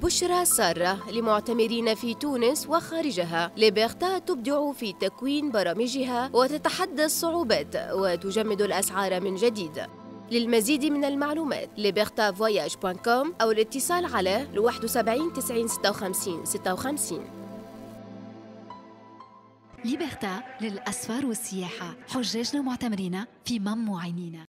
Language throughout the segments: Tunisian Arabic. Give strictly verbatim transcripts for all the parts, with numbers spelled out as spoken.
بشرى سارة لمعتمرين في تونس وخارجها. ليبرتا تبدع في تكوين برامجها وتتحدى الصعوبات وتجمد الأسعار من جديد. للمزيد من المعلومات ليبرتا فواياج dot com أو الاتصال على واحد وسبعين تسعين ستة وخمسين ستة وخمسين. ليبرتا للأسفار والسياحة، حجاجنا ومعتمرينا في مم عينينا.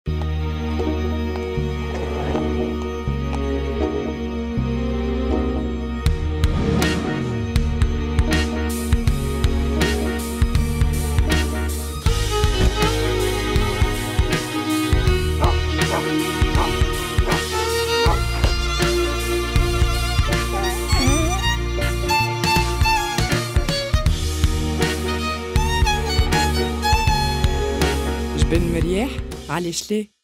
جبن مرياح علاش ليه؟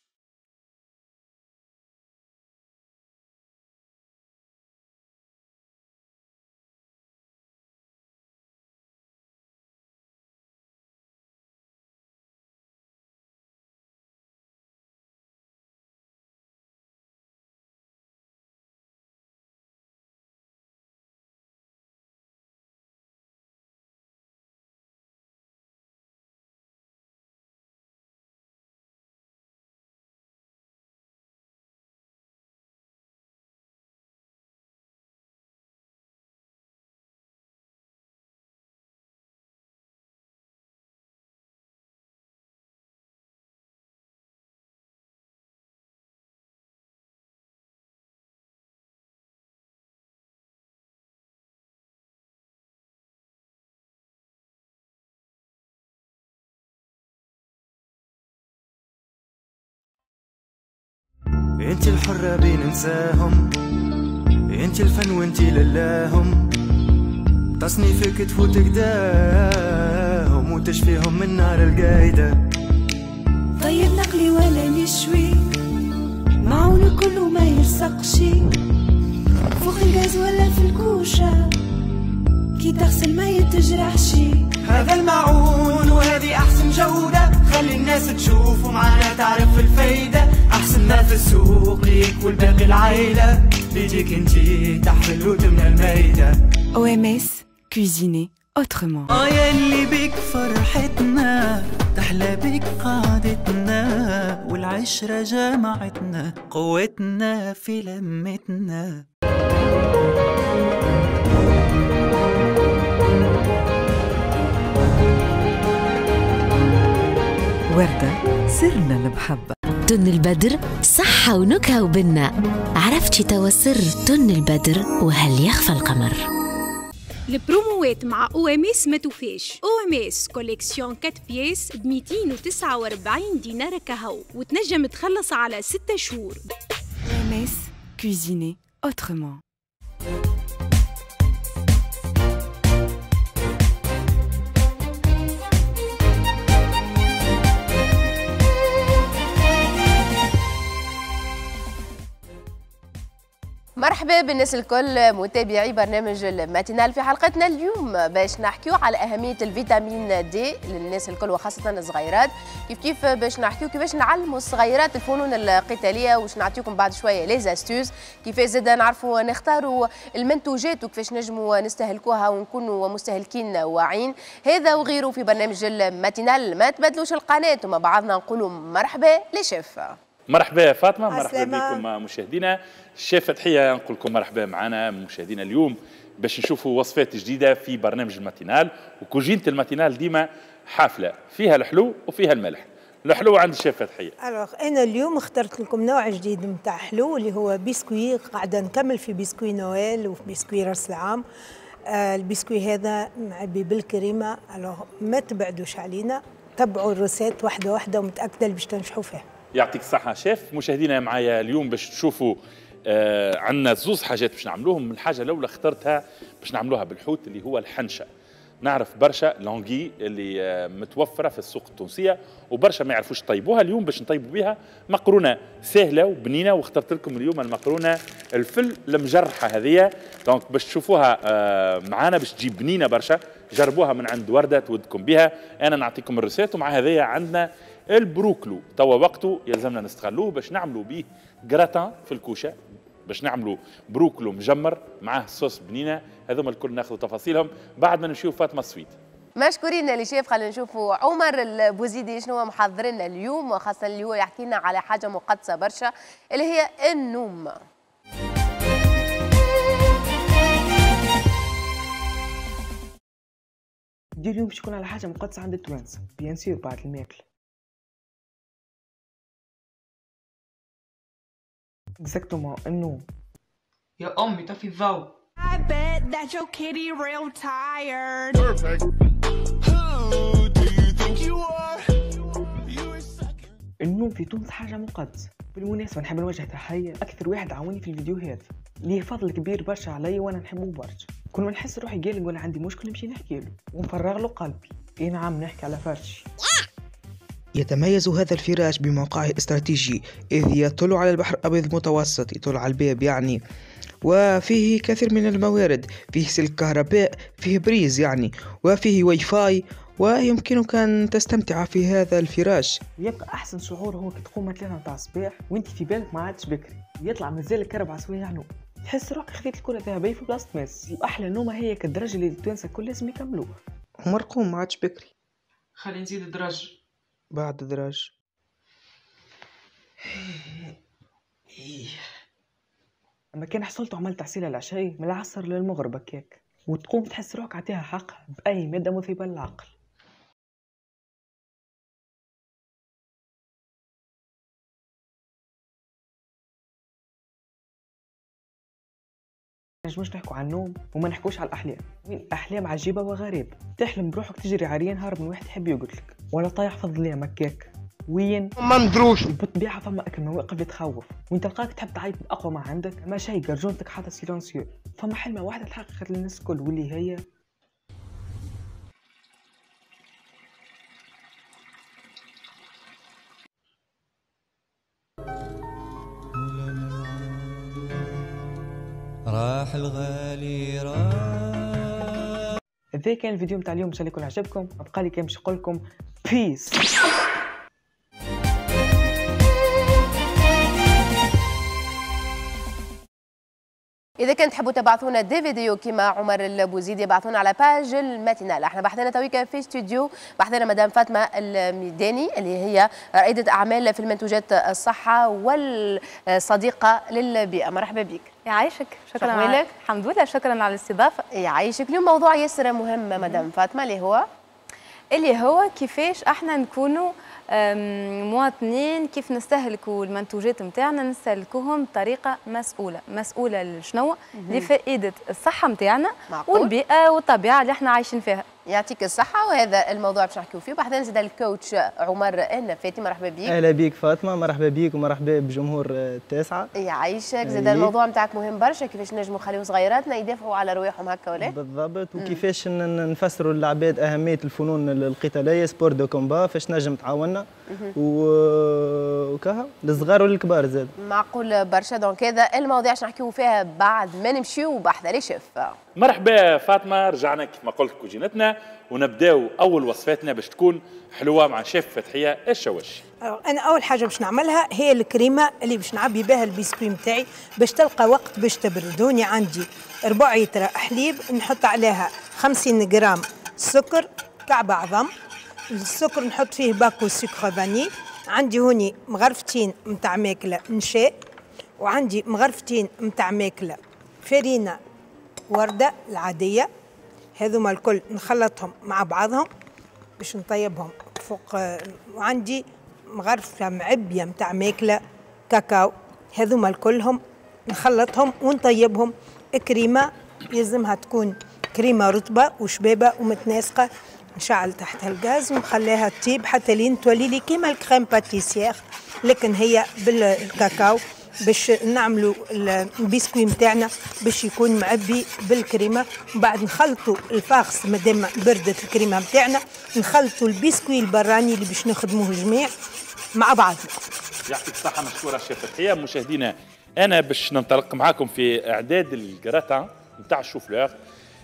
انت الحرة بين نساهم، انت الفن وانت للاهم، تصنيفك تفوت قداهم وتشفيهم من نار القايدة. طيب نقلي ولا نشوي، معون كله ما يلصقشي، فوق الغاز ولا في الكوشة، كي تغسل ما يتجرحشي. هذا المعون وهذه أحسن جودة، خلي الناس تشوف ومعانا تعرف الفايدة. أحسن ما في السوق ليك والباقي العيلة، بيجيك انتي تحفل وتمنى المايدة. أو إم إس cuisiner autrement. آه يا اللي بيك فرحتنا، تحلى بيك قعدتنا، والعشرة جمعتنا، قوتنا في لمتنا. وردة سرنا المحبة. تن البدر صحة ونكهة وبنة، عرفتي توا سر تن البدر وهل يخفى القمر. البروموات مع OMS ما توفاش. OMS collection quatre pièces ب مئتين وتسعة وأربعين دينار كهو، وتنجم تخلص على ستة شهور. OMS cuisiner autrement. مرحبا بالناس الكل متابعي برنامج الماتينال. في حلقتنا اليوم باش نحكيو على أهمية الفيتامين دي للناس الكل وخاصة الصغيرات، كيف كيف باش نحكيو كيفاش نعلموا الصغيرات الفنون القتالية، وش نعطيكم بعد شوية les astuces كيفاش زاد نعرفوا نختاروا المنتوجات وكيفاش نجموا نستهلكوها ونكونوا مستهلكين واعيين. هذا وغيره في برنامج الماتينال، ما تبدلوش القناة ومع بعضنا نقولوا مرحبا les chefs. مرحبا فاطمة، مرحبا بكم مشاهدينا. الشيف فتحيه نقول لكم مرحبا معنا مشاهدينا اليوم باش نشوفوا وصفات جديدة في برنامج الماتينال. وكوجينه الماتينال ديما حافلة، فيها الحلو وفيها الملح. الحلو عند الشيف فتحيه. alors انا اليوم اخترت لكم نوع جديد نتاع حلو اللي هو بسكوي. قاعدة نكمل في biscuit Noël وفي بسكوي راس العام. آه البسكوي هذا معبي بالكريمه. alors ما تبعدوش علينا، تبعوا ال recette واحدة واحدة ومتاكده باش تنجحوا فيها. يعطيك الصحة شيف. مشاهدينا معايا اليوم باش تشوفوا آه عندنا زوز حاجات باش نعملوهم. الحاجة الأولى اخترتها باش نعملوها بالحوت اللي هو الحنشة. نعرف برشا l'anguille اللي آه متوفرة في السوق التونسية وبرشا ما يعرفوش يطيبوها. اليوم باش نطيبوا بها مقرونة سهلة وبنينة، واخترت لكم اليوم المقرونة الفل المجرحة هذه. donc باش تشوفوها آه معانا باش تجي بنينة برشا. جربوها من عند وردة تودكم بها. أنا نعطيكم ال recette. ومع هذه عندنا البروكلو توا وقته يلزمنا نستغلوه باش نعملوا به جراتان في الكوشة. باش نعملوا بروكلو مجمر معاه صوص بنينه. هذوما الكل ناخذوا تفاصيلهم بعد ما نمشيو فاطمة السويد. مشكورين les chefs. خلينا نشوفوا عمر البوزيدي شنو محضر لنا اليوم، وخاصة اللي هو يحكي لنا على حاجة مقدسة برشا اللي هي النوم. دي اليوم باش يكون على حاجة مقدسة عند التوانسة، bien sûr بعد الماكلة. exactement النوم. يا امي طفي الضوء. I bet that your kitty real tired. Perfect. Who do you think you are? You are sucking. النوم في تونس حاجة مقدسة. بالمناسبة نحب نوجه تحية أكثر واحد عاوني في الفيديو هذا، ليه فضل كبير برشا عليا وأنا نحبه برشا. كل ما نحس روحي قالق ولا عندي مشكل نمشي نحكي له ونفرغ له قلبي. إي نعم نحكي على فرشي. يتميز هذا الفراش بموقعه الاستراتيجي، إذ يطل على البحر الأبيض المتوسط، يطل على الباب يعني، وفيه كثير من الموارد، فيه سلك كهرباء، فيه prise يعني، وفيه واي فاي، ويمكنك أن تستمتع في هذا الفراش. يبقى أحسن شعور هو كي تقوم ثلاثة متاع الصباح وانت في بالك ما عادش بكري، يطلع مازال أربع سوايع نوم، تحس روحك خذيت الكرة الذهبية في بلاصة ميسي. وأحلى نومة هي كالدرجة اللي التوانسة الكل لازم يكملوه. عمر قوم ما عادش بكري، خلينا نزيد درج بعد دراج. اما كان حصلت وعملت عسيلة العشاء من العصر للمغرب هكاك، وتقوم تحس روحك عطيها حقها بأي مادة مثيبة للعقل. نجموش نحكوا عن النوم وما نحكوش على الأحلام. وين أحلام عجيبة وغريبة، تحلم بروحك تجري عريان هارب من واحد يحب يقتلك، ولا طايح في الظلام هكاك وين ما ندروش. بالطبيعة فما أكل مواقف اللي تخوف وانت تلقاك تحب تعيط بأقوى ما عندك، ما شيء قرجونتك حاطة silencieux. فما حلمة واحدة تحققت للناس الكل واللي هي راح الغالي راح. هذا كان الفيديو متاع اليوم، ان شاء الله يكون عجبكم. بقى لي كان باش نقول لكم peace. إذا كنت تحبوا تبعثونا des vidéos كيما عمر البوزيدي يبعثونا على page الماتينال. احنا بحثنا تويكا في استوديو، بحثنا مدام فاطمة الميداني اللي هي رائدة أعمال في المنتوجات الصحة والصديقة للبيئة. مرحبا بك. يعيشك، شكرا على الحمد لله، شكرا على الاستضافة. يعيشك. اليوم موضوع ياسر مهم مدام فاطمة اللي هو اللي هو كيفاش احنا نكونوا مواطنين، كيف نستهلكوا المنتوجات نتاعنا، نستهلكوهم بطريقة مسؤولة. مسؤولة لشنو؟ لفائدة الصحة نتاعنا والبيئة والطبيعة اللي احنا عايشين فيها. يعطيك الصحة، وهذا الموضوع باش نحكيو فيه. وبعدين زاد ال coach عمر النفاتي، مرحبا بك. اهلا بك فاطمة، مرحبا بك ومرحبا بجمهور التاسعة. يعيشك. زاد الموضوع نتاعك مهم برشا، كيفاش نجموا نخليو صغيراتنا يدافعوا على رواحهم هكا ولا؟ بالضبط، وكيفاش نفسروا للعباد اهمية الفنون القتالية، sport de combat، فاش نجم تعاوننا وكها للصغار والكبار زاد. معقول برشا. donc هذا المواضيع باش نحكيو فيها بعد ما نمشيو بحذا les chefs. مرحبا فاطمة، رجعنا كيف ما قلت كوجينتنا ونبداو اول وصفاتنا باش تكون حلوة مع شيف فتحيه الشواشي. انا اول حاجة باش نعملها هي الكريمة اللي باش نعبي بها البسكوي نتاعي باش تلقى وقت باش تبردوني. عندي ربع لتر حليب نحط عليها خمسين غرام سكر كعب عظم، السكر نحط فيه باكو sucre vanillé. عندي هوني مغرفتين نتاع ماكله نشاء، وعندي مغرفتين نتاع ماكله فرينه ورده العادية. هذوما الكل نخلطهم مع بعضهم باش نطيبهم فوق. وعندي مغرفه معبيه نتاع ماكله كاكاو. هذوما الكلهم نخلطهم ونطيبهم. كريمة يلزمها تكون كريمة رطبه وشبابه ومتناسقه. نشعل تحتها الغاز ونخليها تطيب حتى لين تولي لي كيما ال crème pâtissière، لكن هي بالكاكاو باش نعملوا البسكوي نتاعنا باش يكون معبي بالكريمه. ومن بعد نخلطوا ال farce مادام بردت الكريمة نتاعنا، نخلطوا البسكوي البراني اللي باش نخدموه جميع مع بعض. يعطيك الصحة، مشكورة شيف فتحيه. مشاهدينا انا باش ننطلق معاكم في اعداد الجراتان نتاع الشوفلور.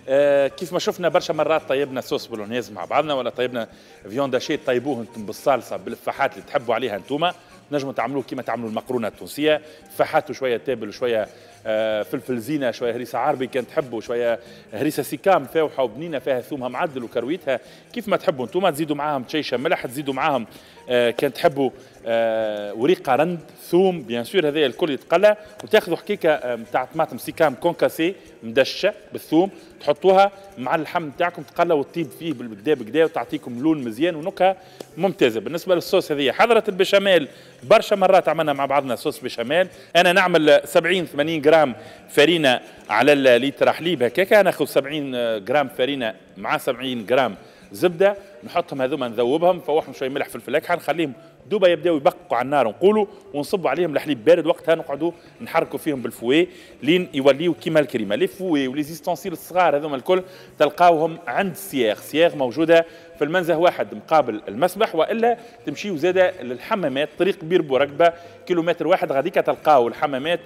آه كيف ما شفنا برشا مرات طيبنا sauce bolognaise مع بعضنا، ولا طيبنا viande hachée طيبوه انتم بالصالصه بالفاحات اللي تحبوا عليها انتوما. نجموا تعملوه كيما تعملوا المقرونه التونسية، فحاتوا شوية تابل وشوية فلفل زينة، شوية هريسه عربي كان تحبوا، شوية هريسه سيكام فاوحه وبنينه فيها ثومها معدل وكرويتها كيف ما تحبوا انتم. تزيدوا معاهم تشيشه ملح، تزيدوا معاهم كان تحبوا وريقه رند، ثوم bien sûr، هذايا الكل يتقلى. وتاخذوا حكيكه نتاع طماطم سيكام concassée مدشه بالثوم، تحطوها مع اللحم نتاعكم تقلى وتطيب فيه بالكدا بالكدا وتعطيكم لون مزيان ونكهه ممتازة. بالنسبة للصوص هذه حضرت البشاميل برشا مرات عملنا مع بعضنا sauce béchamel. انا نعمل سبعين ثمانين جرام فرينه على الليتر حليب هكاكا، ناخذ سبعين جرام فرينه مع سبعين جرام زبدة، نحطهم هذوما نذوبهم، نفوحهم شوية ملح فلفل اكحل، نخليهم دوبا يبداو يبقوا على النار نقولوا، ونصبوا عليهم الحليب بارد. وقتها نقعدوا نحركوا فيهم بال fouet لين يوليو كيما الكريمة. les fouets و les ustensiles الصغار هذوما الكل تلقاوهم عند سياغ. سياغ موجودة في المنزه واحد مقابل المسبح، والا تمشيو زاده للحمامات طريق بير بورقبه كيلومتر واحد غاديك تلقاو الحمامات،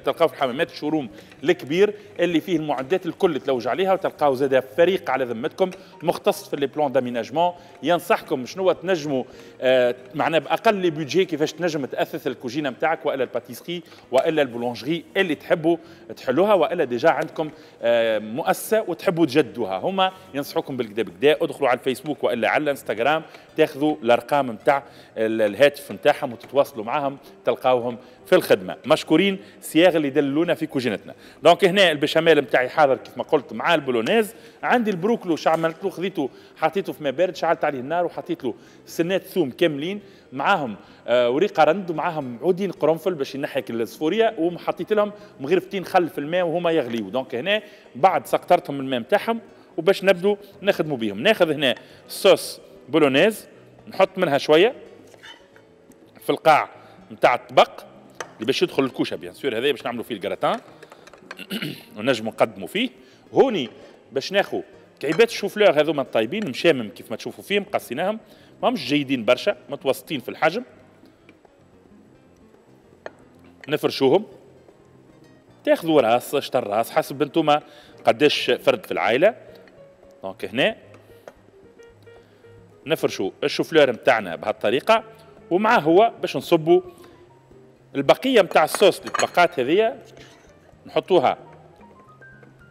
تلقاو في الحمامات ال showroom الكبير اللي فيه المعدات الكل تلوج عليها، وتلقاو زاده فريق على ذمتكم مختص في les plans d'aménagement ينصحكم شنو تنجموا آه معنا باقل les budgets كيفاش تنجم تاثث الكوجينه نتاعك والا ال pâtisserie والا ال boulangerie اللي تحبوا تحلوها، والا déjà عندكم آه مؤسسة وتحبوا تجدوها، هما ينصحوكم بالكدا بالكدا. ادخلوا على الفيسبوك والا على الانستغرام تاخذوا الارقام نتاع الهاتف نتاعهم وتتواصلوا معاهم، تلقاوهم في الخدمة. مشكورين سياغ اللي دللونا في كوجينتنا. donc هنا البشاميل نتاعي حاضر كيف ما قلت مع ال bolognaise. عندي البروكلو شعملت له، خذيته حطيته في ماء بارد، شعلت عليه النار وحطيت له سنات ثوم كاملين معاهم آه وريقه رند ومعاهم عودين قرنفل باش ينحيك الصفوريه، وحطيت لهم مغرفتين خل في الماء وهما يغليو. donc هنا بعد سقطرتهم الماء نتاعهم وباش نبدو نخدموا بيهم. ناخذ هنا sauce bolognaise نحط منها شوية في القاع نتاع الطبق اللي باش يدخل الكوشة bien sûr، هذا باش نعملوا فيه الكراتان ونجموا نقدموا فيه. هوني باش ناخذ كعيبات الشوفلور هذوما الطيبين مشامم كيف ما تشوفوا فيهم، قصيناهم ماهمش جيدين برشا، متوسطين في الحجم، نفرشوهم. تاخذوا راس شطر راس حسب انتوما قداش فرد في العائلة. donc هنا نفرشوا الشوفلور نتاعنا بهالطريقة، ومعه هو باش نصبوا البقية نتاع الصوص اللي تبقات هذيا نحطوها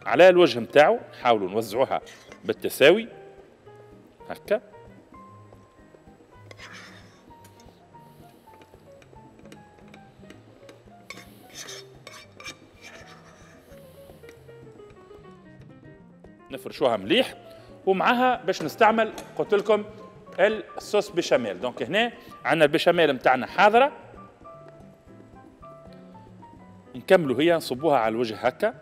على الوجه نتاعو، نحاولوا نوزعوها بالتساوي هكا. نفرشوها مليح، ومعها باش نستعمل قلت لكم ال sauce béchamel. donc هنا عندنا البشاميل نتاعنا حاضره، نكملوا هي نصبوها على الوجه هكا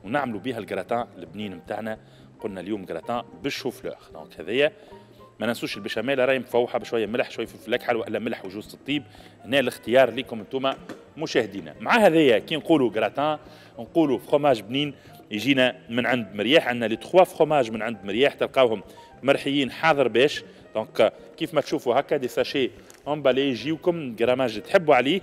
ونعملوا بها الجراتان البنين نتاعنا. قلنا اليوم gratin بال chou-fleur. donc هذايا ما ننسوش البشاميل راهي مفوحه بشوية ملح شوية فلفل اكحل والا ملح وجوز الطيب. هنا الاختيار ليكم انتم مشاهدينا. مع هذايا كي نقولوا جراتان نقولوا فروماج بنين يجينا من عند مرياح. عندنا les trois fromages من عند مرياح تلقاوهم مرحيين حاضر باش. donc كيف ما تشوفوا هكا des sachets emballés يجيوكم grammage تحبوا عليه،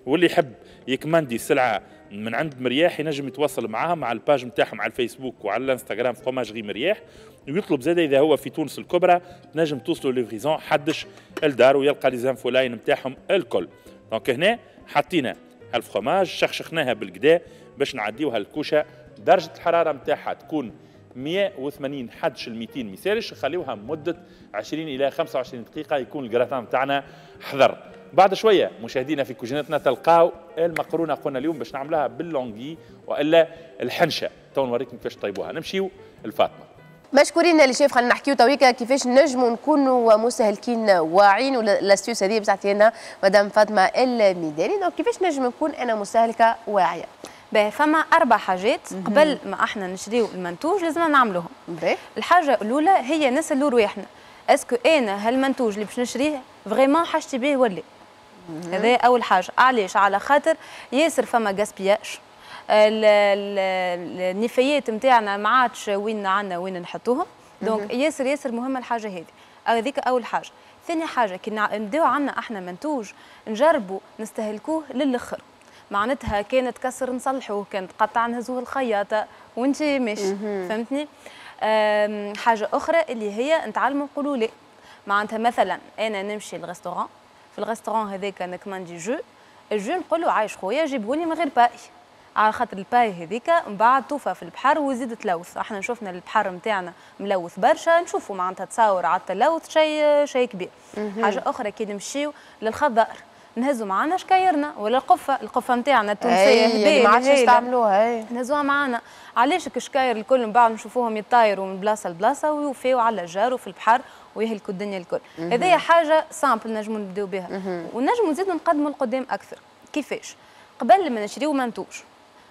واللي يحب يكماندي سلعه من عند مرياح ينجم يتواصل معاهم على ال page نتاعهم على الفيسبوك وعلى الانستغرام fromagerie مرياح، ويطلب زاده اذا هو في تونس الكبرى تنجم توصلوا livraison حدش الدار ويلقى les infoline نتاعهم الكل. donc هنا حطينا هالفروماج شخشخناها بالكدا باش نعديوها الكوشة. درجه الحرارة نتاعها تكون مية وثمانين حدش ال ميتين ميسالش، نخليوها مده عشرين الى خمسة وعشرين دقيقة يكون الجراتان نتاعنا حضر. بعد شوية مشاهدينا في كوجينتنا تلقاو المقرونه قلنا اليوم باش نعملوها بال l'anguille والا الحنشه، تو نوريكم كيفاش طيبوها. نمشيو لفاطمة. مشكورين اللي شاف، خلينا نحكيو تويكا كيفاش نجموا نكونوا مستهلكين واعيين، و l'astuce هذه باش تعطينا مدام فاطمة الميداني. donc كيفاش نجم نكون انا مستهلكه واعية؟ باهي، فما اربع حاجات قبل ما احنا نشريو المنتوج لازم نعملوهم. باهي، الحاجة الاولى هي نسالوا رواحنا est-ce que انا هالمنتوج اللي باش نشريه vraiment حاجتي به ولا؟ هذا اول حاجة. علاش؟ على خاطر ياسر فما gaspillage، النفايات نتاعنا ما عادش وين عندنا وين نحطوهم. donc ياسر ياسر مهمة الحاجة هذه، هذيك اول حاجة. ثاني حاجة كي نبداو عندنا احنا منتوج نجربوا نستهلكوه للاخر، معناتها كان تكسر نصلحوه، كان تقطع نهزوه الخياطة وانت مش فهمتني. حاجة اخرى اللي هي نتعلموا نقولوا لا. معناتها مثلا انا نمشي لل restaurant، في ال restaurant هذاك نكماندي jus، ال jus نقول له عايش خويا جيبهولي من غير paille، على خاطر ال paille هذيك من بعد توفى في البحر ويزيد تلوث. احنا شفنا البحر نتاعنا ملوث برشا، نشوفوا معناتها تصاور على التلوث شيء شيء كبير. حاجة اخرى كي نمشيو للخضار نهزوا معنا شكايرنا ولا القفه، القفه نتاعنا التونسية هبال ما عادش يستعملوها، نهزوها معنا. علاش الشكاير الكل من بعد نشوفوهم يطايروا من بلاصة لبلاصه ويوفيو على الجار وفي البحر ويهلكوا الدنيا الكل. هذه حاجة simple نجموا نبداو بها ونجموا نزيدوا نقدموا لقدام اكثر. كيفاش؟ قبل ما نشريو منتوج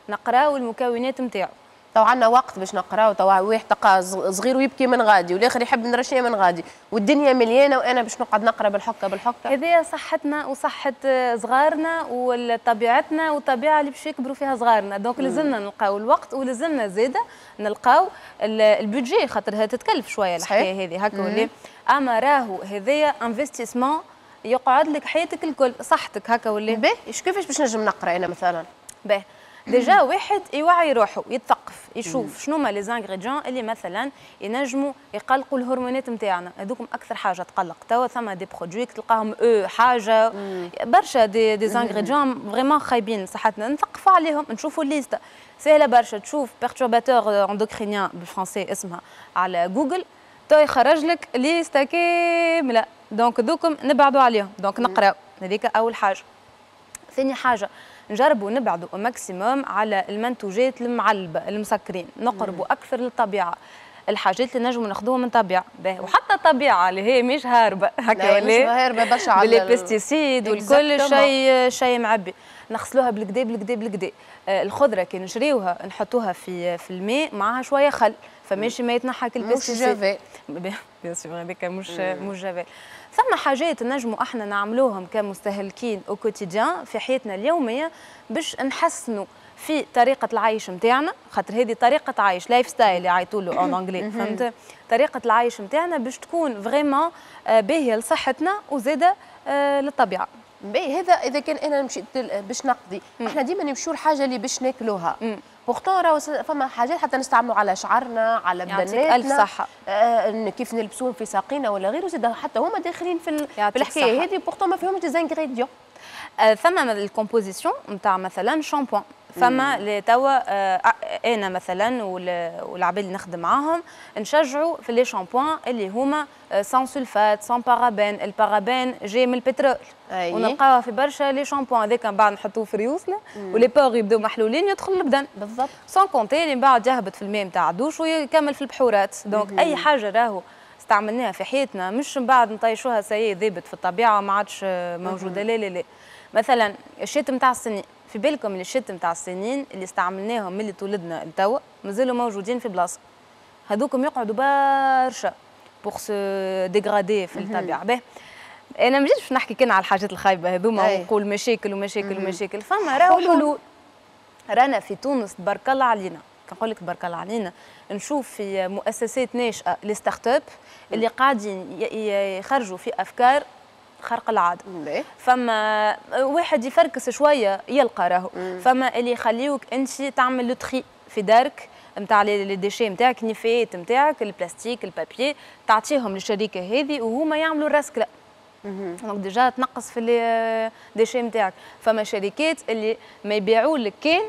نقراو المكونات نتاعو. تو عندنا وقت باش نقراو، تو واحد تلقى صغير ويبكي من غادي والاخر يحب نرشيه من غادي والدنيا مليانة، وانا باش نقعد نقرا بالحكه بالحكه. هذه صحتنا وصحة صغارنا وطبيعتنا والطبيعة اللي باش يكبروا فيها صغارنا، donc لازمنا نلقاو الوقت ولازمنا زاده نلقاو ال budget، خاطرها تتكلف شوية الحكاية هذه هكا ولا. اما راهو هذايا investissement يقعد لك حياتك الكل، صحتك هكا ولا. باهي كيفاش باش نجم نقرا انا مثلا؟ باهي déjà واحد يوعي روحه، يتثقف، يشوف شنو ما les ingrédients اللي مثلا ينجموا يقلقوا الهرمونات نتاعنا، هذوكم اكثر حاجة تقلق. توا ثما des produits تلقاهم او حاجة برشا des des ingrédients vraiment خايبين لصحتنا، نثقفوا عليهم، نشوفوا ال liste سهلة برشا، تشوف perturbateurs endocriniens بالفرنسي اسمها على جوجل، تو يخرج لك liste كاملة. donc ذوكم نبعدوا عليهم، donc نقراو هذيك اول حاجة. ثاني حاجة نجربوا نبعدوا maximum على المنتوجات المعلبه المسكرين، نقربوا اكثر للطبيعة، الحاجات اللي نجموا ناخذوها من الطبيعة، وحتى الطبيعة اللي هي مش هاربه هكا ولا مش هاربه برشا على les pesticides والكل شيء شيء معبي، نغسلوها بالكدا بالكدا بالكدا. آه الخضرة كي نشريوها نحطوها في في الماء معها شوية خل، فماشي ما يتنحى كل pesticides. مش جافيل bien sûr، هذاك مش مش جافيل. ثم حاجات نجموا احنا نعملوهم كمستهلكين au quotidien في حياتنا اليومية باش نحسنوا في طريقه العيش نتاعنا، خاطر هذه طريقه عيش lifestyle يعيطوا له en anglais، فهمت؟ طريقه العيش نتاعنا باش تكون vraiment باهيه لصحتنا وزاده للطبيعة. باهي هذا اذا كان انا مشيت باش نقضي، احنا ديما نمشيو الحاجة اللي باش ناكلوها، pourtant راهو فما حاجات حتى نستعملوا على شعرنا، على بدناتنا، الف صحة، آه كيف نلبسوهم في ساقينا ولا غيره، زاد حتى هما داخلين في, في الحكاية هذه، pourtant ما فيهمش des ingrédients. آه ثم ال composition نتاع مثلا شامبوان، فما اللي توا آه انا مثلا والعباد اللي نخدم معاهم نشجعوا في les shampoings اللي هما sans sulfate، sans parabène. ال parabène جاي من البترول ونلقاوها في برشا les shampoings، هذاك من بعد نحطوه في ريوسنا و les pores يبداو محلولين يدخل البدن بالضبط، sans compter اللي من بعد يهبط في الماء نتاع الدوش ويكمل في البحورات. donc اي حاجة راهو استعملناها في حياتنا مش من بعد نطيشوها ça y est ذابت في الطبيعة ما عادش موجودة، لا لا لا. مثلا ال chaînes نتاع السنين، في بالكم ال chaînes نتاع السنين اللي استعملناهم من اللي تولدنا لتوا مازالوا موجودين في بلاصة، هذوكم يقعدوا برشا pour se dégrader في الطبيعة. باهي انا ما جيتش باش نحكي كان على الحاجات الخايبة هذوما ونقول مشاكل ومشاكل ومشاكل، فما راهو حلول. رانا في تونس تبارك الله علينا، كنقول لك تبارك الله علينا، نشوف في مؤسسات ناشئة les startups اللي قاعدين يخرجوا في افكار خرق العادة. فما واحد يفركس شوية يلقى راهو، فما اللي يخليوك انت تعمل le tri في دارك نتاع les déchets نتاعك، النفايات نتاعك، ال plastique، ال papier، تعطيهم للشركة هذه وهما يعملوا الرسكله. donc déjà تنقص في les déchets نتاعك. فما شركات اللي ما يبيعوا لك كان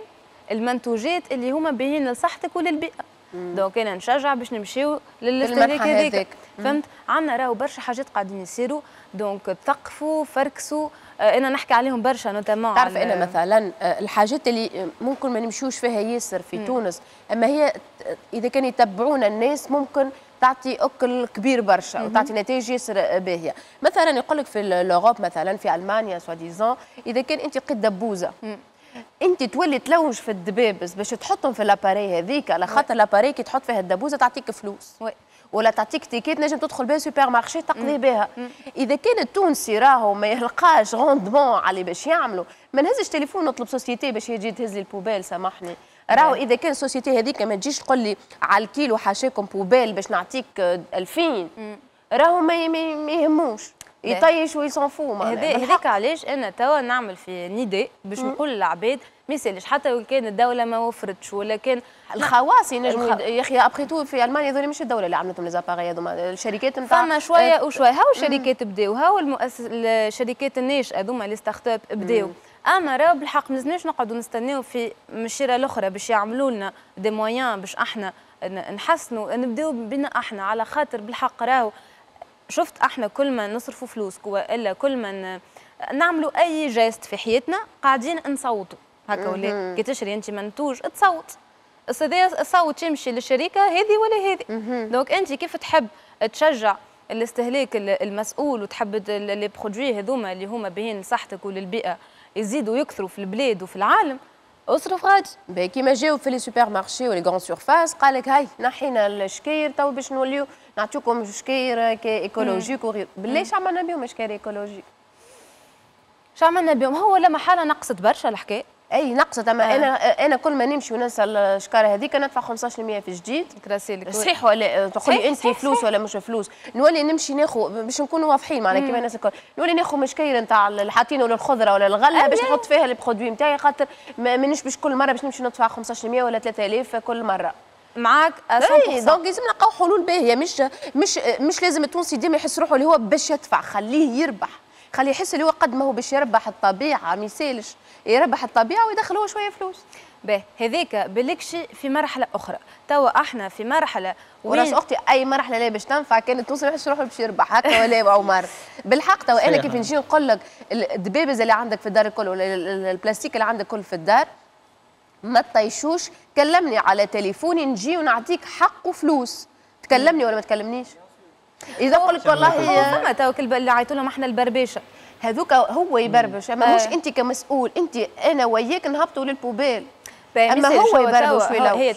المنتوجات اللي هما باهيين لصحتك وللبيئه. donc انا نشجع باش نمشيو للاستهلاك هذاك، فهمت؟ عندنا راهو برشا حاجات قاعدين يصيروا، donc تثقفوا، فركسوا، آه انا نحكي عليهم برشا notamment. تعرف انا مثلا الحاجات اللي ممكن ما نمشيوش فيها ياسر في مم. تونس، اما هي اذا كان يتبعونا الناس ممكن تعطي اكل كبير برشا وتعطي نتائج ياسر باهيه. مثلا يقول لك في l'Europe، مثلا في المانيا soi-disant، اذا كان انت لقيت دبوزه مم. انت تولي تلوج في الدبابز باش تحطهم في l'appareil هذيك، على خاطر l'appareil كي تحط فيها الدبوزه تعطيك فلوس oui. ولا تعطيك ticket نجم تدخل بها supermarché تقضي بها. اذا كان التونسي راهو ما يلقاش rendement على اللي باش يعملوا، ما نهزش تليفون نطلب société باش يجي تهز لي ال poubelle، سامحني. راهو اذا كان ال société هذيك ما تجيش تقول لي على الكيلو حاشاكم poubelle باش نعطيك ألفين، راهو ما يهموش. يطيش و il s'en fout معناها. هذاك علاش انا توا نعمل في نداء باش نقول للعباد ما يسالش، حتى لو كان الدولة ما وفرتش ولا كان الخواص ينجموا يا اخي. après tout في المانيا هذول مش الدولة اللي عملتهم les appareils هذوما، الشركات نتاع فما شوية وشوية. هاو الشركات بداو، هاو المؤسس الشركات الناشئة هذوما les startups بداو. اما راهو بالحق ما لازمناش نقعدوا نستناو في من الشيره الاخرى باش يعملوا لنا des moyens باش احنا نحسنوا، نبداو بنا احنا، على خاطر بالحق راهو شفت احنا كل ما نصرفوا فلوس والا كل ما نعملوا اي geste في حياتنا قاعدين نصوتوا هكا ولا. كي تشري انت منتوج تصوت، الصوت يمشي للشركة هذه ولا هذه. donc انت كيف تحب تشجع الاستهلاك المسؤول وتحب les produits هذوما اللي هما باهين لصحتك وللبيئه يزيدوا يكثروا في البلاد وفي العالم، اصرف غادي. كيما جاو في les supermarchés و les grandes surfaces قال لك هاي نحينا الشكاير تو باش نوليو نعطيكم شكاير écologiques وغير. بالله عملنا بهم شكاير écologiques؟ شو عملنا بهم؟ هو لما حاله نقصت برشا الحكاية. اي نقصت، اما آه. انا انا كل ما نمشي وننسى الشكاره هذيك ندفع خمسطاش بالمية في جديد. صحيح ولا تقول لي انت فلوس ولا مش فلوس؟ نولي نمشي ناخذ باش نكونوا واضحين معنا كيما الناس الكل، نولي ناخذ مشكير نتاع اللي حاطينه للخضره ولا الغلة باش نحط فيها ال produits نتاعي، خاطر مانيش باش كل مرة باش نمشي ندفع خمسطاش بالمية ولا ثلاثة آلاف كل مرة. معاك مية بالمية. donc لازم نلقاو حلول باهيه، مش مش مش لازم التونسي ديما يحس روحه اللي هو باش يدفع، خليه يربح، خليه يحس اللي هو قد ما هو باش يربح الطبيعة، ما يسالش يربح الطبيعة ويدخل هو شوية فلوس. باهي هذيك بالكشي في مرحلة اخرى، توا احنا في مرحلة وراس اختي اي مرحلة لا باش تنفع كان التونسي ما يحسش روحه باش يربح هكا ولا يا عمر؟ بالحق توا انا كيف نجي نقول لك الدبابز اللي عندك في الدار الكل ولا البلاستيك اللي عندك كل في الدار ما تطيشوش، كلمني على تليفوني نجي ونعطيك حق وفلوس، تكلمني ولا ما تكلمنيش؟ اذا قلت والله فما تو اللي عيطوا لهم احنا البربيشه هذوك هو يبربش، اما مش انت كمسؤول، انت انا وياك نهبطوا لل poubelle، اما هو يبربش. ولا هي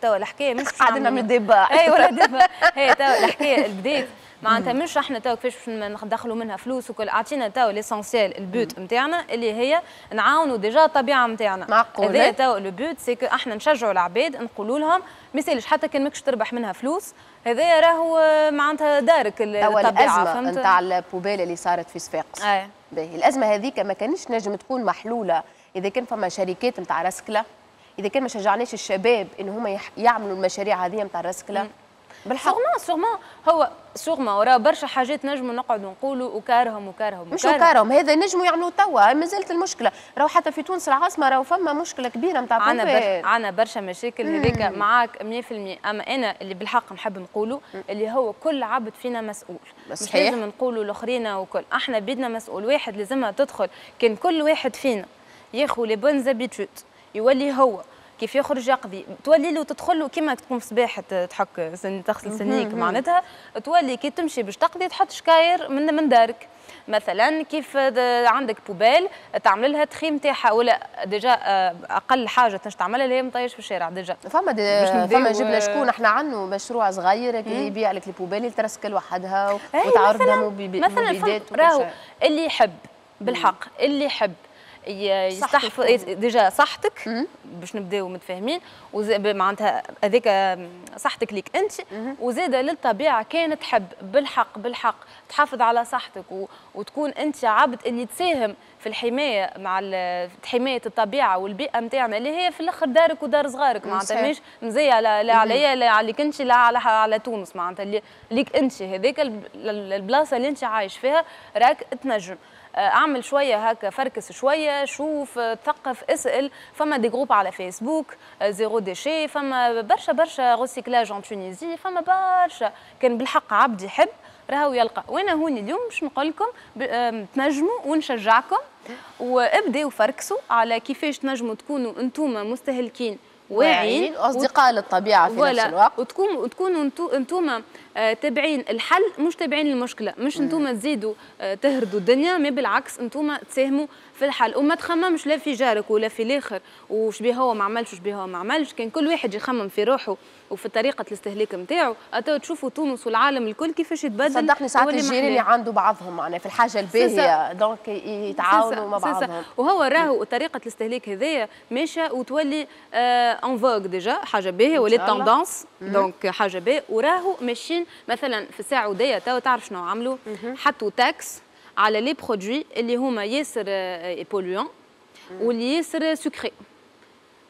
توا الحكاية مش قاعدين نعمل débat. اي ولا débat، هي توا الحكاية البداية معناتها مش احنا توا كيفاش باش ندخلوا منها فلوس وكل، اعطينا توا l'essentiel ال but نتاعنا اللي هي نعاونوا déjà الطبيعة نتاعنا. معقول هذا توا le but، c'est que احنا نشجعوا العباد نقولوا لهم ما يسالش حتى كان ماكش تربح منها فلوس، هذايا راهو معناتها دارك الطبيعة. الازمة نتاع ال poubelle اللي صارت في صفاقس، باهي الازمة هذيك ما كانش نجم تكون محلولة اذا كان فما شركات نتاع رسكله، اذا كان ما شجعناش الشباب ان هما يعملوا المشاريع هذه نتاع الرسكله. بالحق sûrement sûrement هو sûrement وراه برشا حاجات نجموا نقعدوا نقولوا وكارهم وكارهم مش وكارهم، هذا نجموا يعملوا توا، مازالت المشكلة راهو حتى في تونس العاصمة راهو فما مشكلة كبيرة نتاع عندنا برشا عندنا برشا مشاكل هذيك معاك مية بالمية. اما انا اللي بالحق نحب نقوله اللي هو كل عبد فينا مسؤول، مش لازم نقولوا الاخرين وكل، احنا بيدنا مسؤول واحد لازمها تدخل، كان كل واحد فينا ياخذ les bonnes habitudes يولي هو كيف يخرج يقضي، تولي له تدخل له كيما تقوم صباح تحك سن تغسل سنيك معناتها، تولي كي تمشي باش تقضي تحط شكاير من من دارك مثلا، كيف عندك poubelle تعمل لها tri نتاعها، ولا déjà اقل حاجة تنجم تعملها اللي هي مطيش في الشارع déjà. فما فما جبنا شكون احنا عنه مشروع صغير يبيع لك ال poubelle اللي ترسكل وحدها وتعرضها مثلا. راهو اللي يحب بالحق اللي يحب يستحفظ déjà صحتك باش نبداو متفاهمين، معناتها هذيك صحتك ليك انت وزاده للطبيعة، كان تحب بالحق بالحق تحافظ على صحتك و... وتكون انت عبد اللي تساهم في الحماية مع حماية الطبيعة والبيئة نتاعنا اللي هي في الاخر دارك ودار صغارك، معناتها مش مزية لا, لا عليا لا عليك انت لا على على تونس، معناتها اللي ليك انت هذيك البلاصة اللي انت عايش فيها راك تنجم اعمل شوية هكا، فركس شوية، شوف، تثقف، اسال، فما des groupes على فيسبوك zéro déchet، فما برشا برشا recyclage en Tunisie، فما برشا كان بالحق عبد يحب راهو يلقى. وانا هوني اليوم باش نقول لكم تنجموا ونشجعكم وابداو فركسوا على كيفاش تنجموا تكونوا انتوما مستهلكين واعيين واصدقاء للطبيعة في نفس الوقت، وتكونوا وتكونوا انتوما تابعين الحل مش تابعين المشكلة، مش انتوما تزيدوا تهردوا الدنيا، ما بالعكس انتوما تساهموا في الحل، وما تخممش لا في جارك ولا في الاخر وش بيه هو ما عملش وش بيه هو ما عملش، كان كل واحد يخمم في روحه وفي طريقه الاستهلاك نتاعو، اتو تشوفوا تونس والعالم الكل كيفاش يتبدل. صدقني ساعات الجيران اللي عنده بعضهم معناها في الحاجة الباهيه donc يتعاونوا مع بعضهم، وهو راهو طريقه الاستهلاك هذايا ماشية وتولي en vogue déjà حاجة باهيه ولات tendance، donc حاجة باهيه، وراهو ماشيين مثلا في السعودية تو تعرف شنو عملوا؟ حطوا taxe على les produits اللي هما ياسر polluants واللي ياسر sucrés،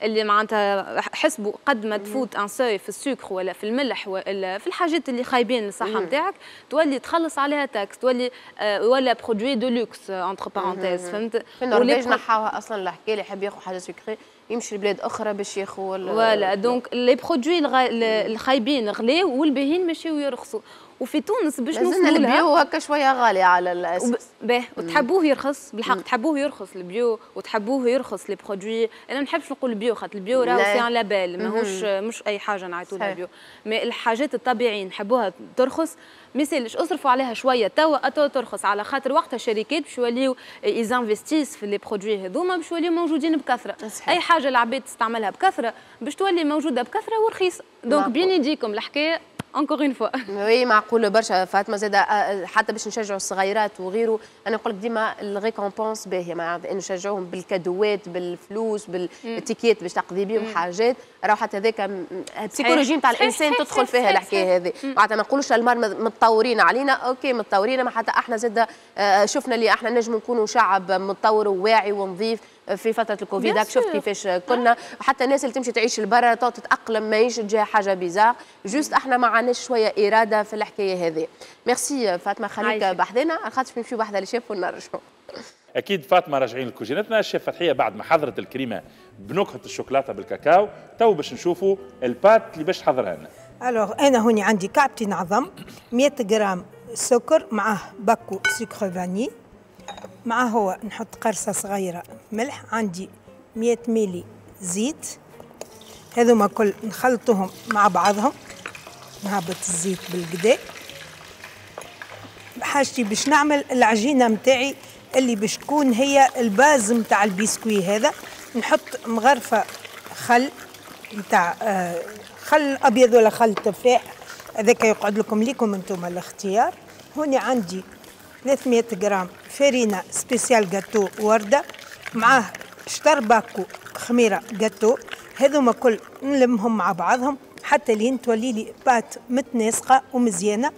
اللي معناتها حسبوا قد ما تفوت un seuil في السكر ولا في الملح ولا في الحاجات اللي خايبين للصحة نتاعك تولي تخلص عليها taxe، تولي آه ولا produit de luxe entre parenthèses، فهمت؟ في النرويج نحاوها اصلا الحكاية، اللي يحب ياخذ حاجة sucrée يمشي لبلاد اخرى باش ياخذ. voilà، donc les produits الخايبين غلاو والباهين ماشيو يرخصوا. وفي تونس باش نوصلوا لها ال bio هكا شوية غالي على الاساس. باه، وتحبوه يرخص بالحق، تحبوه يرخص ال bio وتحبوه يرخص les produits. انا ما نحبش نقول bio خاطر ال bio راهو c'est un label، ماهوش مش اي حاجة نعيطوا لها bio. mais الحاجات الطبيعية نحبوها ترخص، ما يسالش اصرفوا عليها شوية توا توا ترخص، على خاطر وقتها الشركات باش يوليو ils investissent في les produits هذوما باش يوليو موجودين بكثره. صحيح. اي حاجة العباد تستعملها بكثرة باش تولي موجودة بكثرة ورخيصه. donc بين يديكم الحكاية encore une fois. oui، معقول برشا فاطمة زاد، آه، حتى باش نشجعوا الصغيرات وغيره. انا نقول لك ديما ال récompense باهيه، معناتها انه نشجعوهم بال cadeau ات، بالفلوس، بال ticket باش تقضي بهم حاجات. راهو حتى هذاك ال psychologie نتاع الانسان تدخل فيها الحكاية هذه. معناتها ما نقولوش الالمان متطورين علينا، OK متطورين، ما حتى احنا زاد آه، شفنا اللي احنا نجم نكونوا شعب متطور وواعي ونظيف في فترة الكوفيد. هاك شفت كيفاش كنا، حتى الناس اللي تمشي تعيش لبرا تتاقلم، ماهيش تجي حاجة bizarre. juste احنا ما عندناش شوية اراده في الحكاية هذه. ميرسي فاطمه، خليك بحذنا على خاطر نمشيو بحذا الشيف ونرجعوا. اكيد فاطمه، راجعين لكوجينتنا. الشيف فتحيه بعد ما حضرت الكريمة بنكهه الشوكولاتة بالكاكاو، تو باش نشوفوا ال pâte اللي باش تحضرها لنا. alors انا هوني عندي كعبتين عظم، مية غرام سكر، معاه باكو sucre vanillé، معاه هو نحط قرصة صغيرة ملح، عندي مية ميلي زيت. هذوما كل نخلطوهم مع بعضهم. نهبط الزيت بالقدا. حاجتي باش نعمل العجينة متاعي اللي باش تكون هي ال base متاع البسكوي هذا. نحط مغرفة خل متاع آه، خل أبيض ولا خل تفاح، هذاك يقعد لكم ليكم انتم الاختيار. هوني عندي ثلاثمية غرام فرينة spéciale gâteau وردة، معاه شطر باكو خميرة جاتو. هذوما كل نلمهم مع بعضهم حتى لين تولي لي pâte متناسقة ومزيانة،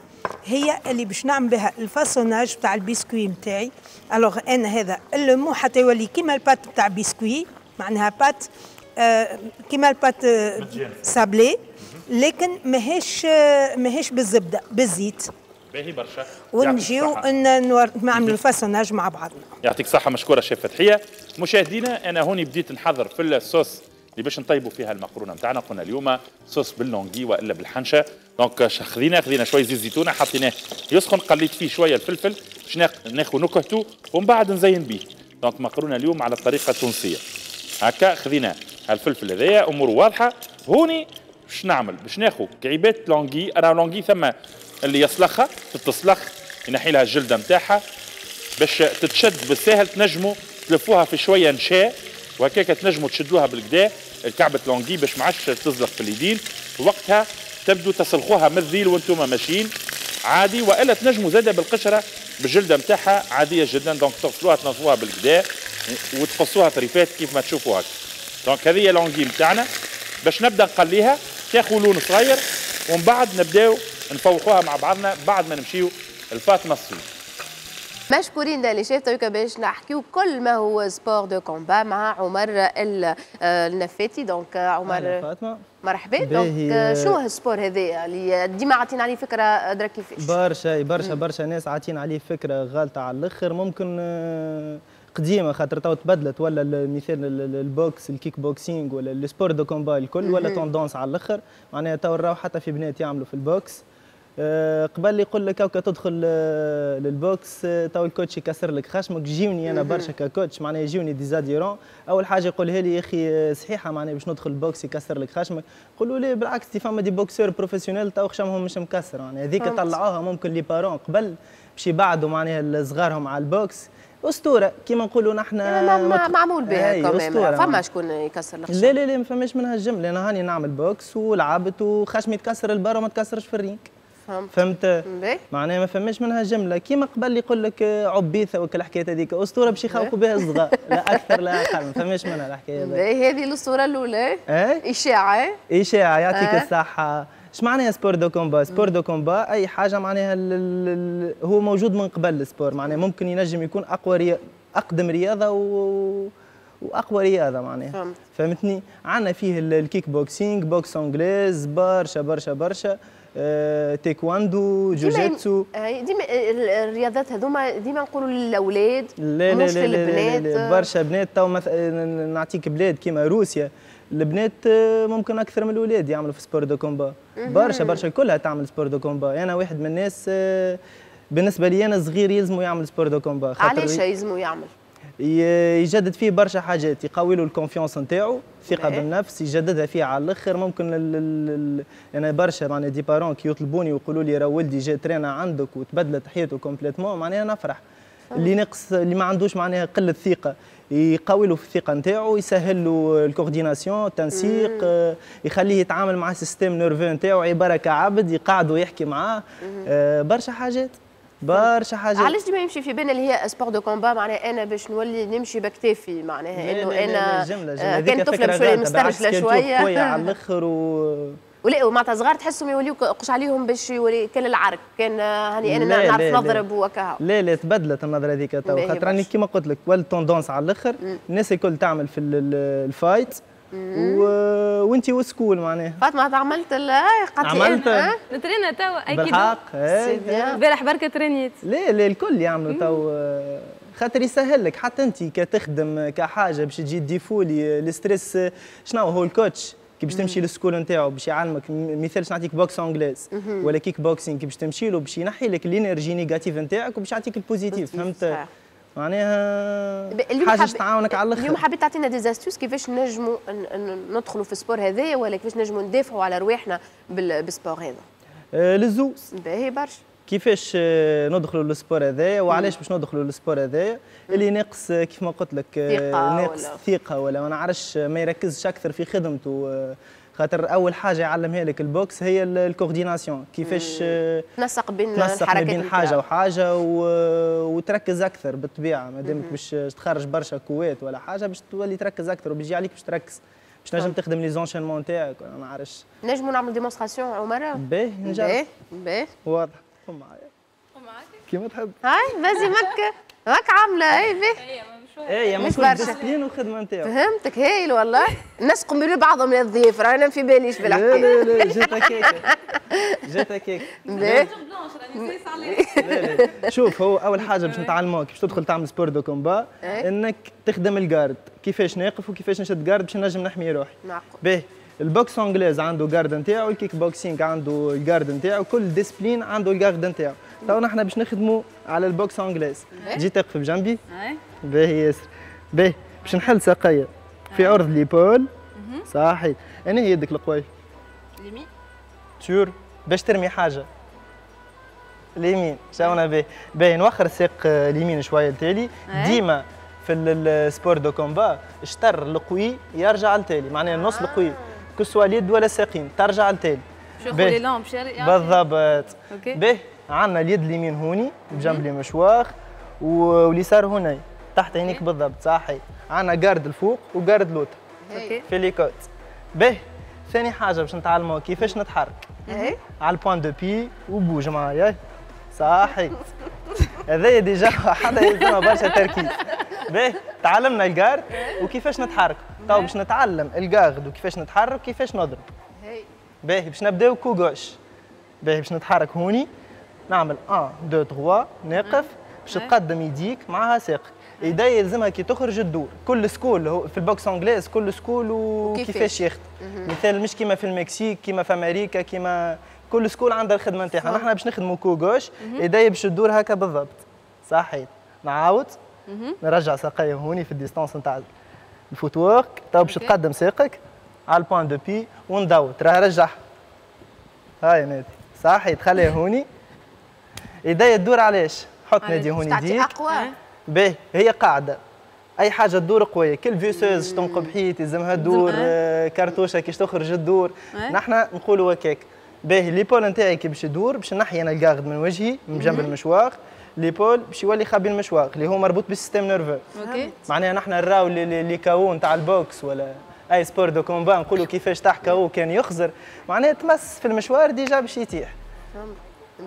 هي اللي باش نعمل بها ال façonnage تاع البسكوي نتاعي. alors انا هذا نلمو حتى يولي كيما ال pâte تاع بسكوي، معناها pâte آه كيما ال pâte آه سابلي، لكن ماهيش آه ماهيش بالزبده، بالزيت. باهي برشا. ونجيو نعملوا ال façonnage مع بعضنا. يعطيك الصحة، مشكورة شيف فتحية. مشاهدينا، أنا هوني بديت نحضر في الصوص اللي باش نطيبوا فيها المقرونه نتاعنا. قلنا اليوم sauce بال l'anguille والا بالحنشه. donc خذينا خذينا شوية زيت زيتونه، حطيناه يسخن، قليت فيه شوية الفلفل باش ناخذ نكهته ومن بعد نزين به. donc مقرونة اليوم على الطريقة التونسية. هكا خذينا الفلفل هذايا، امور واضحة. هوني باش نعمل؟ باش ناخذ كعيبات l'anguille. انا l'anguille ثم اللي يسلخها، تتسلخ، ينحي لها الجلدة نتاعها باش تتشد بالساهل. تنجموا تلفوها في شوية نشاء وهكاك تنجموا تشدوها بالقدا الكعبة l'anguille باش ما عادش تزلق في اليدين. وقتها تبدو تسلخوها من الذيل وانتم ماشيين عادي، والا تنجموا زاده بالقشره بالجلده نتاعها عادية جدا. donc تغسلوها، تنظفوها بالقدا وتقصوها طريفات كيف ما تشوفوا هكا. donc هذه هي l'anguille نتاعنا. باش نبدا نقليها تاخذ لون صغير ومن بعد نبداو نفوحوها مع بعضنا بعد ما نمشيو لفاطمة الصويد. مشكورين les chefs. تويكا باش نحكيو كل ما هو sport de combat مع عمر النفاتي. donc عمر فاطمة مرحبا. donc شنو هو ال sport هذا اللي ديما عاطينا عليه فكرة درا كيفاش؟ برشا برشا برشا ناس عاطين عليه فكرة غالطه على الاخر، ممكن آه، قديمة خاطر تو تبدلت. ولا المثال ال boxe، ال kick-boxing ولا ال sport de combat الكل ولا tendance على الاخر. معناها تو راهو حتى في بنات يعملوا في ال boxe. آه، قبل يقول لك هكا تدخل آه، لل boxe، آه، تو ال coach يكسر لك خشمك. جيوني انا برشا ك coach، معناها يجوني des adhérents، اول حاجة يقولها لي: يا اخي صحيحه معناها باش ندخل ال boxe يكسر لك خشمك؟ قولوا لي بالعكس، فما des boxeurs professionnels تو خشمهم مش مكسر. معناها هذيك طلعوها ممكن les parents قبل باش يبعدوا معناها صغارهم على ال boxe. اسطورة كيما نقولوا نحن. معمول بها كمان، فما شكون يكسر الخشم؟ لا لا لا، ما فماش منها الجمله. انا هاني نعمل boxe ولعبت وخشمي تكسر البر وما تكسرش في ال ring. فهمت. فهمت، معناها ما فماش منها جملة كيما قبل يقول لك عبيثه وكل الحكايات هذيك، اسطورة باش يخوفوا بها الصغار، لا اكثر لا اقل، ما فماش منها الحكاية هذه. هذه الاسطورة الاولى. اشاعه. اشاعه، يعطيك أه؟ الصحه. اش معناها sport de combat؟ sport de combat اي حاجة معناها هو موجود من قبل ال sport، معناها ممكن ينجم يكون اقوى ري... اقدم رياضة و... واقوى رياضة معناها. فهمت. فهمتني؟ عندنا فيه الكيك بوكسينغ، boxe anglaise، برشا برشا برشا، آه، تايكواندو، جوجيتسو. ديما الرياضات هذوما ديما نقولوا للاولاد مش للبنات. برشا بنات تو مثلا نعطيك بلاد كيما روسيا، البنات ممكن اكثر من الاولاد يعملوا في sport de combat، برشا برشا كلها تعمل sport de combat. انا واحد من الناس بالنسبة لي انا صغير يلزموا يعمل sport de combat. علاش يلزموا يعمل؟ يجدد فيه برشا حاجات، يقوي له ال confiance نتاعو، الثقة بالنفس يجددها فيه على الاخر. ممكن ال ال انا برشا معناها des parents كي يطلبوني ويقولوا لي راه ولدي جا ترينا عندك وتبدلت حياته complètement، معناها نفرح. اللي نقص اللي ما عندوش معناها قلة ثقة يقوي له في الثقة نتاعو، يسهل له ال coordination، التنسيق، يخليه يتعامل مع ال système nerveux نتاعو عبارة كعبد، يقعد ويحكي معاه، برشا حاجات برشا حاجات. علاش ديما يمشي في بالنا اللي هي sport de combat معناها انا باش نولي نمشي بكتافي، معناها انه انا جملة جملة كان طفله باش نولي مسترجله شوية قوية على الاخر و ولا معناتها صغار تحسهم يوليو قش عليهم باش يولي كان العرك كان هاني انا نعرف نضرب وكها. لا لا تبدلت النظرة هذيك تو، خاطر راني كيما قلت لك ولات tendance على الاخر، الناس الكل تعمل في ال fight و... وانت و school معناها. فاطمة عملت قالت لي نترينا تو اكيد بالحق البارح بركة ترينيت. لا لا الكل يعملوا تو، خاطر يسهل لك حتى انت كتخدم كحاجة باش تجي défouler ال stress. شنو هو ال coach كي باش تمشي لل school نتاعو باش يعلمك، مثال باش نعطيك boxe anglaise ولا كيك بوكسينغ، كي باش تمشي له باش ينحي لك l'énergie négative نتاعك وباش يعطيك ال positif. فهمت؟ معناها حاجة تعاونك على الاخر. اليوم حبيت تعطينا des astuces كيفاش نجموا ندخلوا في ال sport هذايا ولا كيفاش نجموا ندافعوا على رواحنا بال sport هذا؟ آه للزوز. باهي برشا. كيفاش ندخلوا لل sport هذايا وعلاش باش ندخلوا لل sport هذايا؟ اللي ناقص كيف ما قلت لك ناقص ثقة ولا ما نعرفش ما يركزش اكثر في خدمته، خاطر اول حاجة يعلمها لك ال boxe هي ال coordination، كيفاش تنسق بين تنسق بين حاجة وحاجه و... وتركز اكثر بالطبيعة، ما دامك باش تخرج برشا coups ولا حاجة باش تولي تركز اكثر وبيجي عليك باش تركز باش تنجم تخدم les enchaînements تاعك ولا ما نعرفش. نجموا نعمل démonstration عمر؟ باهي نجرب. باهي باهي واضح. قوم معايا. قوم معاك كيما تحب. هاي vas-y مك ماك عامله اي باهي. اي مش برشا discipline والخدمة نتاعو. فهمتك هايل والله. الناس قملوا بعضهم للضيف راه انا في باليش بالحكاية. لا لا لا جات هكاك جات هكاك. باهي. شوف هو اول حاجة باش نتعلموها كيفاش تدخل تعمل sport de combat انك تخدم ال garde، كيفاش ناقف وكيفاش نشد garde باش نجم نحمي روحي. معقول. باهي ال boxe anglaise عنده garde نتاعو، الكيك بوكسينغ عنده ال garde نتاعو، كل discipline عنده ال garde نتاعو. تو نحن باش نخدموا على ال boxe anglaise. تجي تقف بجنبي؟ باهي ياسر. باهي باش نحل ساقية في عرض l'épaule. صحيح. انا هي يدك القوية؟ اليمين. sûr باش ترمي حاجة. اليمين، شاونا باهي. باهي نوخر الساق اليمين شوية لتالي، ديما في ال sport de combat الشطر القوي يرجع لتالي، معناها النص القوي que ce soit اليد ولا الساقين ترجع لتالي. باش ياخذ l'élan باش بالضبط. باهي عندنا اليد اليمين هوني بجنب les mâchoires واليسار هوني تحت عينيك بالضبط. صحيح. عندنا garde الفوق و garde لوطا في les côtes. باهي ثاني حاجة باش نتعلموا كيفاش نتحرك على ال point de pied و bouge معايا. صحيح. هذايا déjà حدا يلزمها برشا تركيز. باهي تعلمنا ال garde وكيفاش نتحرك، تو باش نتعلم ال garde وكيفاش نتحرك وكيفاش نضرب. باهي باش نبداو coup gauche. باهي باش نتحرك هوني نعمل واحد اثنين ثلاثة نقف باش تقدم يديك معها ساقك. يدي يلزمها كي تخرج تدور، كل school هو في ال boxe anglaise كل school وكيفاش يخدم. مثال مش كيما في المكسيك كيما في امريكا كيما كل school عندها الخدمة نتاعها. نحن باش نخدموا coup gauche يدي باش تدور هكا بالضبط. صحيح. نعاود نرجع ساقي هوني في ال distance نتاع ال footwork. تو باش تقدم ساقك على ال point de pied وندور، ترى رجعها. هاي نادي. صحيح تخليها هوني. يدي تدور علاش؟ حط نادي هوني يديك. اقوى. باهي هي قاعدة اي حاجة تدور قوية، كل visseuse تنقب حيط يلزمها تدور، كرتوشه كيش تخرج تدور، نحن نقولوا هكاك. باهي l'épaule نتاعي كي باش يدور باش نحي انا ال garde من وجهي من جنب ال mâchoire، l'épaule باش يولي خابي ال mâchoire اللي هو مربوط بال système nerveux. OK. معناها نحن نراو les K O نتاع ال boxe ولا اي sport de combat نقولوا كيفاش تحكى هو كان يخزر، معناها تمس في المشوار déjà باش يطيح.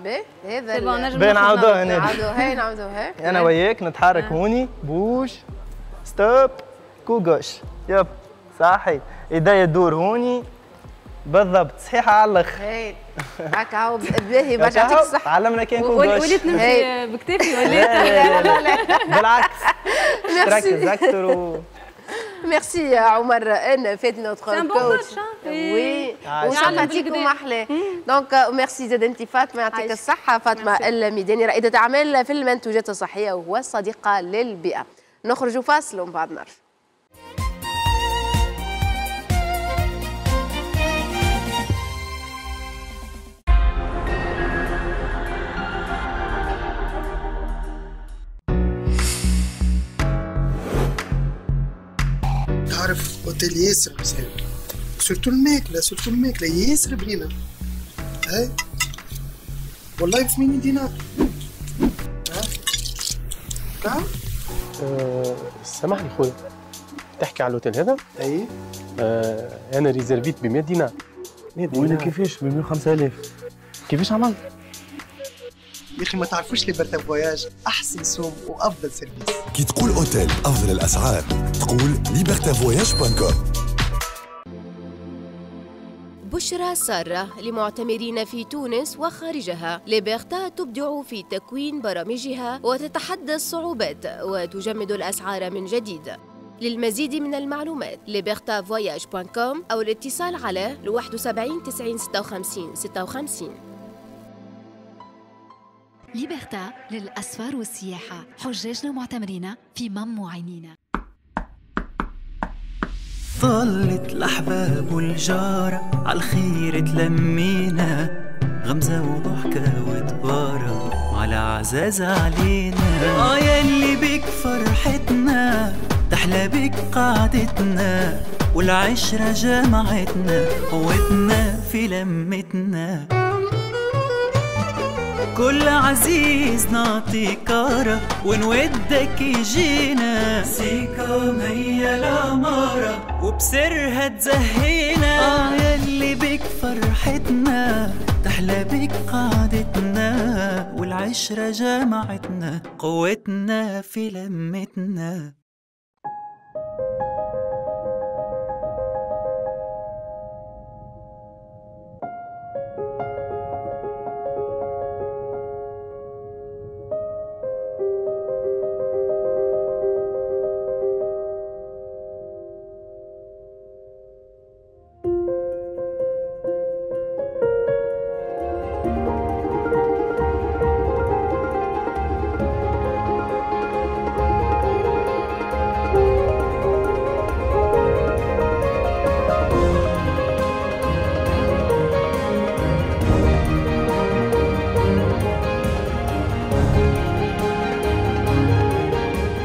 باهي هذا باهي نعاودوها هنا، نعاودوها نعاودوها انا وياك نتحرك هوني، bouge stop coup gauche، يب صحيح، ايديا تدور هوني بالضبط، صحيحه على الاخر. هاي هكا هو باهي باش يعطيك الصحة. علمنا كان coup gauche. وليت نمشي بكتافي وليت لا لا لا بالعكس تركز اكثر و ميرسي عمر ان فات notre coach. oui و sympathique ومحلاه. donc merci زاد انت فاطمة، يعطيك الصحة. فاطمة الميداني رائدة اعمال في المنتوجات الصحية والصديقه للبيئة. نخرجوا فاصل ومن بعد نرجع. تعرف اوتيل ياسر مزيان، surtout الماكلة، surtout الماكلة ياسر بنينه. هاي والله ب ثمانين دينار. ها كام؟ أه سامحني خويا، تحكي على الاوتيل هذا؟ اي أه انا réserv يت ب مية دينار. مية دينار وانا كيفاش ب مية وخمسة آلاف؟ كيفاش عملت؟ يا اخي ما تعرفوش Liberta Voyages احسن سوم وافضل service. كي تقول اوتيل افضل الاسعار تقول Liberta Voyages point com. بشرى سارة لمعتمرين في تونس وخارجها. Liberta تبدع في تكوين برامجها وتتحدى الصعوبات وتجمد الأسعار من جديد. للمزيد من المعلومات Liberta Voyages point com أو الاتصال على واحد وسبعين تسعين ستة وخمسين ستة وخمسين. Liberta للأسفار والسياحة، حجاجنا ومعتمرين في مم عينينا. طلت الأحباب والجارة عالخير تلمينا، غمزة وضحكة وتبارة على عزاز علينا. آه يلي بك فرحتنا تحلى بك قعدتنا، والعشرة جمعتنا قوتنا في لمتنا. كل عزيز نعطي كارة ونودك يجينا، سيكام هي العمارة وبسرها تزهينا. آه يلي بك فرحتنا تحلى بك قعدتنا، والعشرة جمعتنا قوتنا في لمتنا.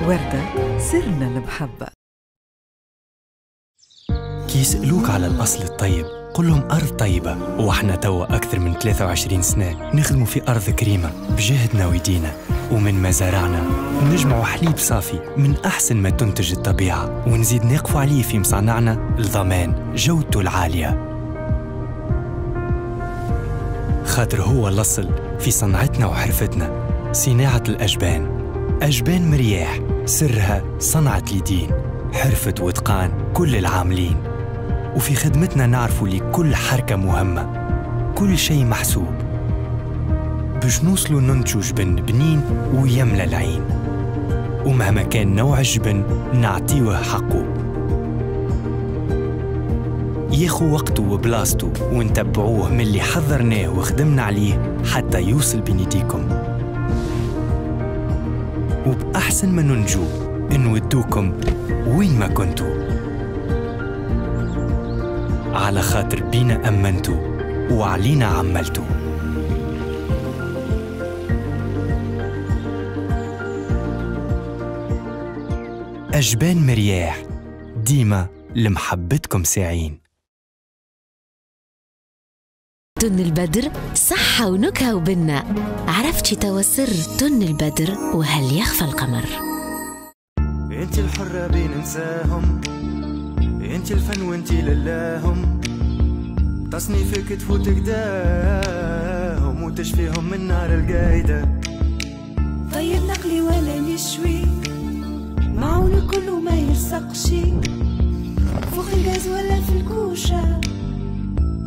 وردة سرنا المحبة. كي يسألوك على الأصل الطيب قل لهم أرض طيبة، وإحنا توا أكثر من ثلاثة وعشرين سنة نخدموا في أرض كريمة بجهدنا ويدينا، ومن مزارعنا نجمعوا حليب صافي من أحسن ما تنتج الطبيعة، ونزيد نقفوا عليه في مصانعنا لضمان جودته العالية، خاطر هو الأصل في صنعتنا وحرفتنا. صناعة الأجبان، أجبان مرياح سرها صنعة اليدين، حرفة وإتقان كل العاملين، وفي خدمتنا نعرفوا لكل حركة مهمة، كل شيء محسوب باش نوصلوا ننتجوا جبن بنين ويملى العين، ومهما كان نوع الجبن نعطيوه حقه، ياخو وقته وبلاصته، ونتبعوه من اللي حضرناه وخدمنا عليه حتى يوصل بين يديكم. وبأحسن ما ننجو نودوكم وين ما كنتوا، على خاطر بينا أمنتوا وعلينا عملتوا. أجبان مرياح ديما لمحبتكم ساعين. تن البدر صحة ونكهة وبنة، عرفتي توا سر تن البدر وهل يخفى القمر. انت الحرة بين نساهم، انت الفن وانت للاهم، تصنيفك تفوت قداهم وتشفيهم من نار القايدة. طيب نقلي ولا نشوي، معون كله ما يلصقش، فوق الغاز ولا في الكوشة،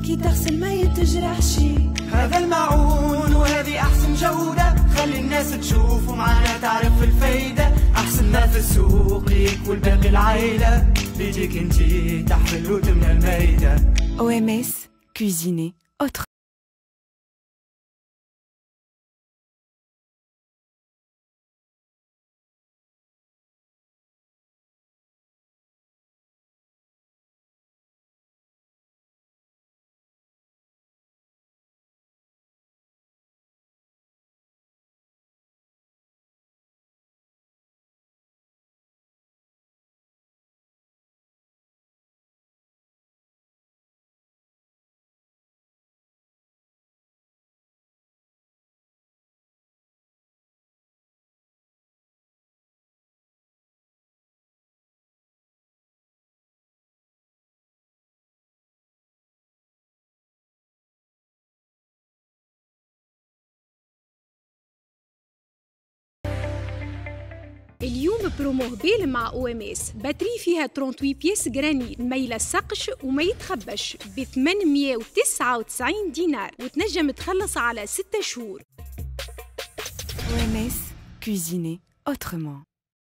كي تغسل ما يتجرحش. هذا المعون وهذه أحسن جودة، خلي الناس تشوف ومعانا تعرف الفايدة. أحسن ما في السوق ليك والباقي العيلة، بيديك انتي تحفل وتمنى المايدة. أو إم إس cuisiner autrement. اليوم برومو هبيل مع OMS، batterie فيها ثلاثة وثلاثين pièces granit، ما يلصقش وما يتخبش ب ثمنمية وتسعة وتسعين دينار، وتنجم تخلص على ستة شهور. أو إم إس cuisiner autrement.